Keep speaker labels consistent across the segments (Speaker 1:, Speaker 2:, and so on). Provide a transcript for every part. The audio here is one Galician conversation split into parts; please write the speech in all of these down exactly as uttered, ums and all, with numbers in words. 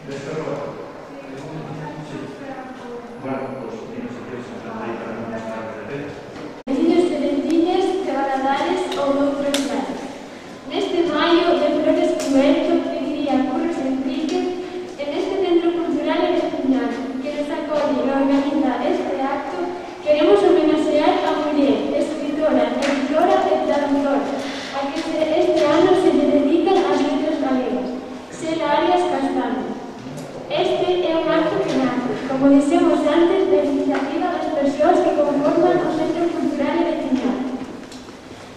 Speaker 1: Vecinos de Veciñas, de Valadares ou de outros lados. Neste maio de Flores Cuberto, Alegría, Curros Enrique, en este Centro Cultural en Estuñán, que nos acolle e organiza este acto, queremos homenaxear a muller, escritora, editora e traductora, a que este ano se lle dedican as letras galegas, Xela Arias Castaño. Este é un acto que nace, como dixemos antes, da iniciativa das persoas que conforman o Centro Cultural e Veciñal,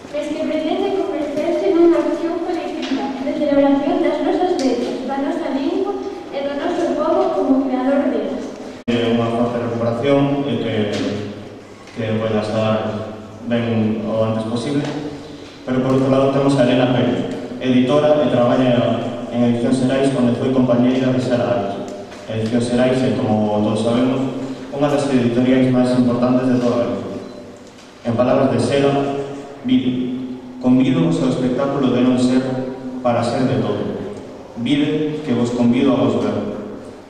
Speaker 1: mas que pretende converterse nunha acción colectiva de celebración das nosas letras, da nosa lingua e do noso povo como creador delas.
Speaker 2: É unha forte recuperación e que, que vai estar ben o antes posible, pero por outro lado temos a Elena Pérez, editora e traballa en Edicións Xerais, onde foi compañeira de Xela Arias. Edicións Xerais é, como todos sabemos, unha das editoriais máis importantes de toda a Galicia. En palabras de Xela, vide, convido-vos ao espectáculo de non ser para ser de todo. Vide que vos convido a vos ver.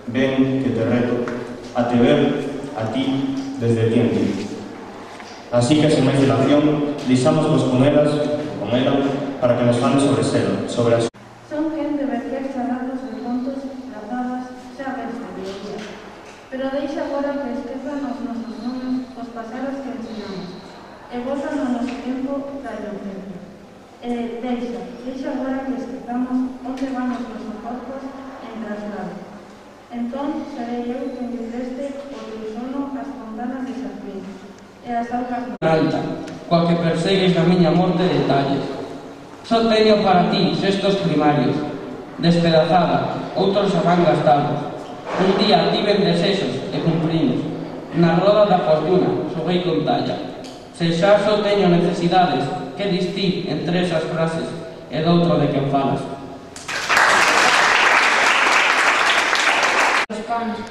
Speaker 2: Ven que te reto a te ver a ti desde ti en ti. Así que, sen máis dilación, deixámosvos con elas, con ela, para que nos fale sobre Xela, sobre as...
Speaker 3: Son gente reflexa datos de contos tratadas xa ves de biología, pero deixa agora que esquezan os nosos nomes, os pasaros que ensinamos, e gozan no noso tempo da inocencia. E deixa, deixa agora que esquezamos onde van os nosos corpos en traslado. Entón, serei eu quen lle preste o ilusono as fontanas de Xafín e as augas
Speaker 4: alta, coa que persegues na miña morte detalles. Só teño para ti sextos primarios, despedazada, outros serán gastados. Un día tiven desexos e cumprimos. Na roda da fortuna, xoguei con talla. Se xa só teño necesidades, que distir entre esas frases e doutro de quen falas.
Speaker 5: Os cans,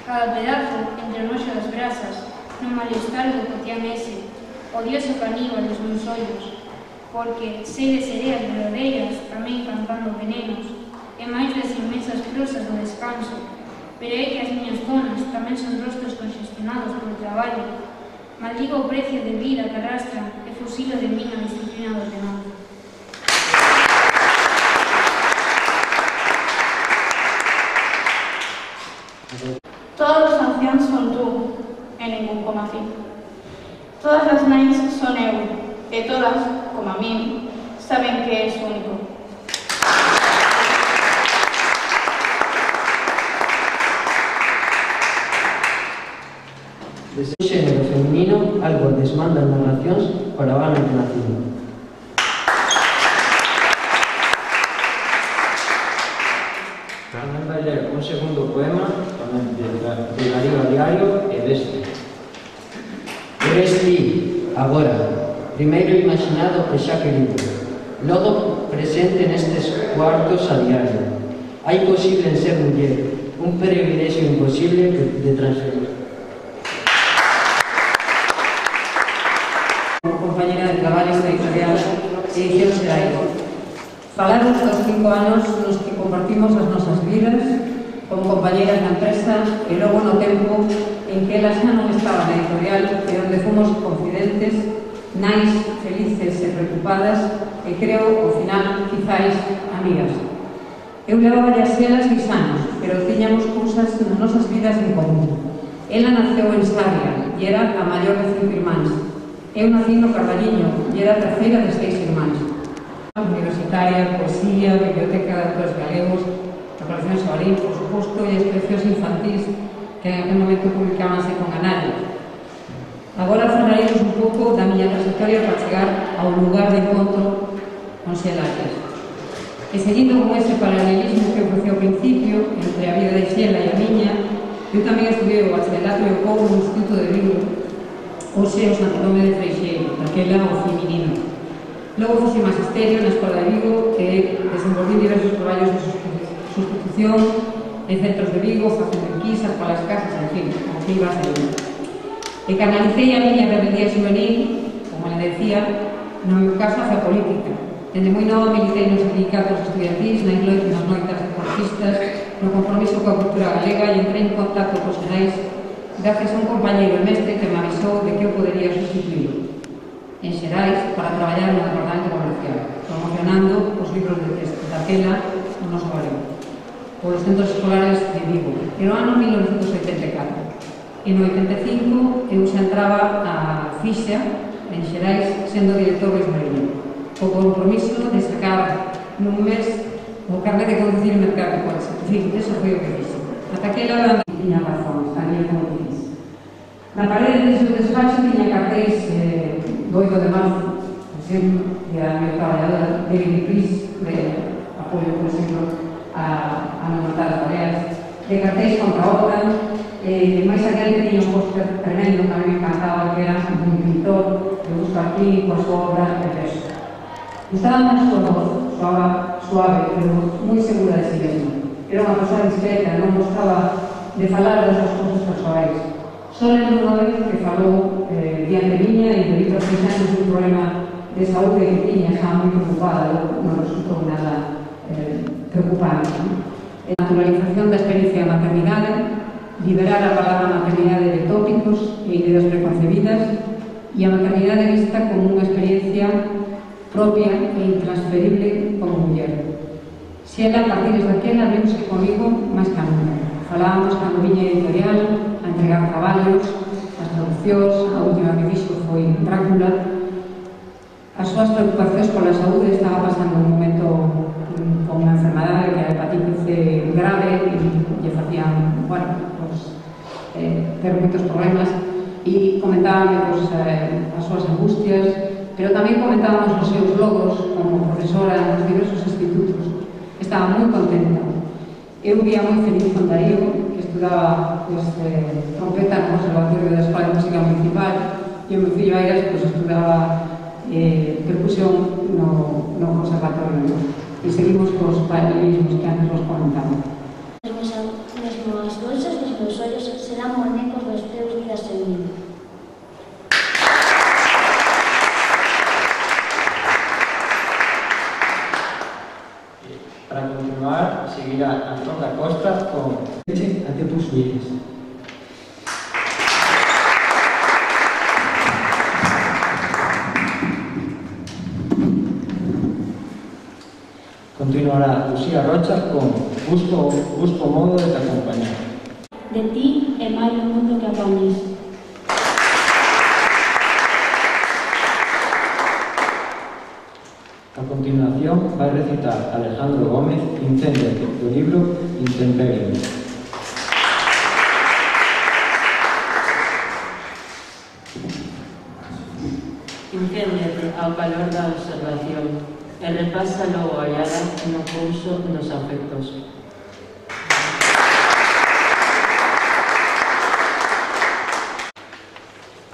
Speaker 5: cada pedazo entre o noxo das brasas, no malestar do cotián ese, odioso caníbal dos meus ollos, porque sei de sereas verdadeiras tamén cantando venenos, e máis das inmensas prosas do descanso, pero é que as miñas zonas tamén son rostros congestionados polo traballo. Maldigo o precio de vida que arrastran e fusilo de min a disciplina do ordenado.
Speaker 3: Todos os anciáns son tú, e ningún como a ti. Todas as nais son eu, e todas, como a min, saben que és único.
Speaker 6: Desde o xénero feminino, algo desmandan narracións para o ano que nacido. Tamén vai ler un segundo poema, tamén de Darío a Diario e deste. Eres ti, agora, primeiro imaginado e xa querido, logo presente nestes cuartos a diario. Hai posible en ser muller, un privilexio imposible de transferir.
Speaker 7: Compañera de traballo da editorial Edicións Xerais. Falaron dos cinco anos nos que compartimos as nosas vidas como compañeras na empresa e logo no tempo en que elas xa non estaban na editorial e onde fomos confidentes, nais, felices e preocupadas e creo, ao final, quizáis, amigas. Eu levaba as Xelas seis anos, pero tiñamos cousas nas nosas vidas en común. Ela naceu en Sarria e era a maior de cinco irmáns. Eu nací no Carbaliño e era a terceira de seis irmáns. Universitaria, poesía, biblioteca de autores galegos, a colección Sabarín, por suposto, e expresións infantís que en aquel momento publicábanse con Ganario. Agora falaremos un pouco da miña trayectoria para chegar ao lugar de encontro con Xela Arias. E seguindo con ese paralelismo que ofreceu ao principio entre a vida de Xela e a miña, eu tamén estudei o bachillerato e o pouco no Instituto de Vigo, hoxe o Santo Nome de Freixeiro, daquela o feminino. Logo fui magisterio na Escola de Vigo e desenvolví diversos traballos de sustitución en centros de Vigo, facendo enquisas para as casas, en fin, como que iba a ser. E canalicei a miña rebeldía juvenil, como le decía, no meu caso hacia a política. Dende moi nova militei nos sindicatos estudiantis, nas noitas deportistas, no compromiso coa cultura galega e entrei en contacto cos Xerais gracias a un compañeiro e mestre que me avisou de que eu podería sustituir en Xerais para traballar no departamento comercial, promocionando os libros de texto daquela no noso galego polos centros escolares de Vigo. Era o ano mil novecentos oitenta e catro. E no oitenta e cinco eu xa entraba a fixa en Xerais sendo director Luis Mariño, co compromiso de sacar nun mes o carnet de conducir e mercar de coche. En fin, eso foi o que fixe. Ata aquela tiña razón, sabía como fixe. Na parede de seu despacho tiña cartéis eh, do oito de marzo, por exemplo, que era a miña traballadora de Greenpeace, de apoio, por exemplo, a, a non matar as baleares, de cartéis contra a OTAN, e eh, máis aquel que tiña un póster tremendo que a mí me encantaba, que era un pintor que busca aquí coa súa obra de peso. Gustaba máis súa voz, suave, suave, pero moi segura de si mesma. Era unha persoa discreta, non gostaba de falar das súas cousas persoais. Só lembro unha vez que falou eh, diante miña e de outros seis anos un problema de saúde que tiña, estaba moi preocupada, non resultou nada eh, preocupante. ¿No? A naturalización da experiencia da maternidade, liberar a palabra maternidade de tópicos e ideas preconcebidas e a maternidade vista como unha experiencia propia e intransferible como muller. Se ela, a partir de aquela, vemos que comigo máis que nunca. Falábamos cando viña editorial, a entregar traballos, as traduccións, a última que fixo foi Drácula. As súas preocupacións pola saúde estaba pasando un momento con unha enfermedade que era hepatitis C grave e lle facían, bueno, pues, eh, ter moitos problemas e comentaban pues, eh, as súas angustias, pero tamén comentábamos os seus logros como profesora nos diversos institutos. Estaba moi contenta. Eu vía moi feliz con Darío, que estudaba pues, eh, trompeta no Conservatorio da Escola de Música Municipal, e o meu fillo Airas pues, estudaba eh, percusión no, no Conservatorio. E seguimos cos paralelismos que antes vos comentaba.
Speaker 8: Mesmo as bolsas dos meus ollos serán monecos dos teus días en mí.
Speaker 6: Para continuar, seguirá Antón da Costa con Leche ante tus miles. Continuará Lucía Rocha con Busco, busco modo de te acompañar.
Speaker 8: De ti é máis o mundo que apañes.
Speaker 6: A continuación vai recitar Alejandro Gómez Incéndiate, do libro Intemperie.
Speaker 9: Incéndiate ao calor da observación e repasa logo a hallada no couso dos afectos.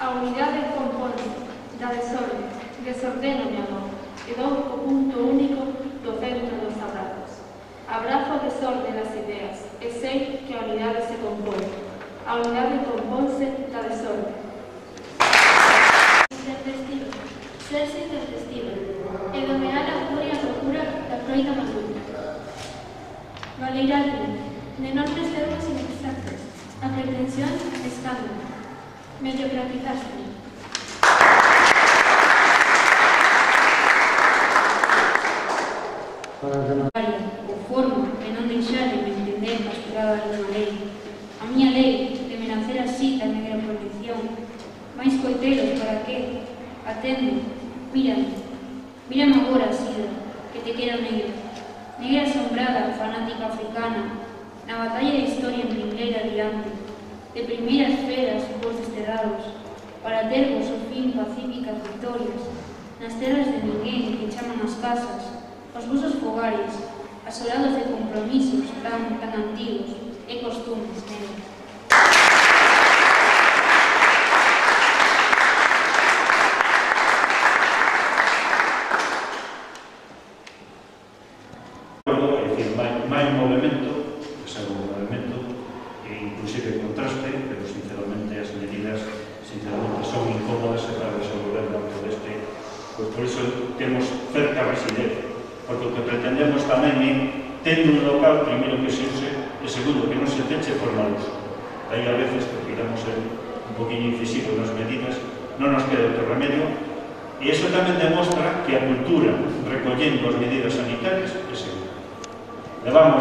Speaker 1: A unidade compónse da desorden, desordeno mi amor, e dou o punto único do centro dos abrazos. Abrazo o desorden das ideas, e sei que a unidade se compón. A unidade compónse da desorden. Intempestivo, serse intempestivo, e domear a furia a locura da froita maluca. Valeirarme, de enormes verbos inexactos, a pretensión escándalo. Mediocratizaste.
Speaker 5: O forma de non deixar de me entender pasturada dunha lei. A miña lei de me nacer así tan negra prohibición. Mais coitelos para que? Atende, mírame. Mírame agora, Sida, que te quero negra. Negra asombrada, fanática africana. Na batalla da historia en primeira diante. De primeiras feras vos desterrados. Para tervos o fin pacíficas victorias. Nas terras de ninguén que chaman as casas. Os vosos fogares, asolados de compromisos tan, tan antigos e costumes negros.
Speaker 10: É dicir, máis movimento, que sea un movimento, e inclusive contraste, pero sinceramente as medidas sinceramente son incómodas para desenvolver dentro deste, pois por iso temos cerca residencia. Porque o que pretendemos tamén é tendo un local, primeiro que se use, e segundo, que non se peche por mal uso. Aí a veces, que queramos ser un poquinho incisivos nas medidas, non nos queda outro remedio, e iso tamén demostra que a cultura, recollendo as medidas sanitarias, é segura. Levamos